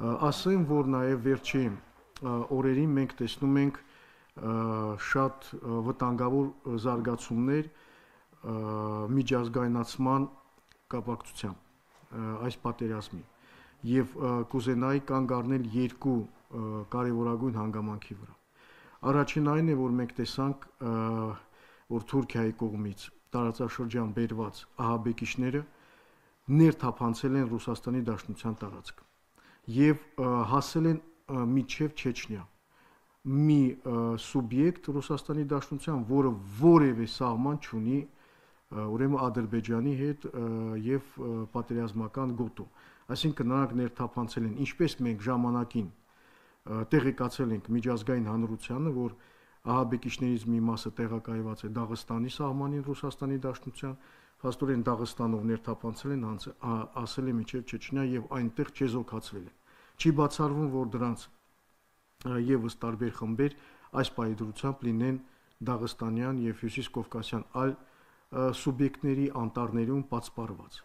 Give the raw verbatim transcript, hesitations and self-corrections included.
Ասեմ, որ նաև վերջի օրերին մենք տեսնում ենք շատ վտանգավոր զարգացումներ միջազգայնացման կապակցությամբ այս պատերազմի եւ կուզենայի կանգ առնել երկու կարևորագույն հանգամանքի վրա։ Առաջին այն է, որ մենք տեսանք, որ Թուրքիայի կողմից տարածաշրջան բերված ահաբեկիչները ներթափանցել են Ռուսաստանի Դաշնության տարածք եւ հասել են մինչեւ Չեչնիա, մի սուբյեկտ Ռուսաստանի Դաշնության, որը որևէ սահման չունի ուրեմն Ադրբեջանի հետ եւ պատերազմական գոտու։ Այսինքն նրանք ներթափանցել են, ինչպես մենք ժամանակին տեղեկացել ենք միջազգային հանրությանը, որ ահաբեկիչներից մի մասը տեղակայված է Դաղստանի սահմանին Ռուսաստանի Դաշնության, փաստորեն Դաղստանով ներթափանցել են, ասել է մինչև Չեչնիա եւ այնտեղ չեզոքացվել են։ Չի բացառվում, որ դրանց եւս տարբեր խմբեր այս պայծրությամբ լինեն Դաղստանյան եւ Հյուսիսկովկասյան այլ սուբյեկտների անտառներում պատսպարված։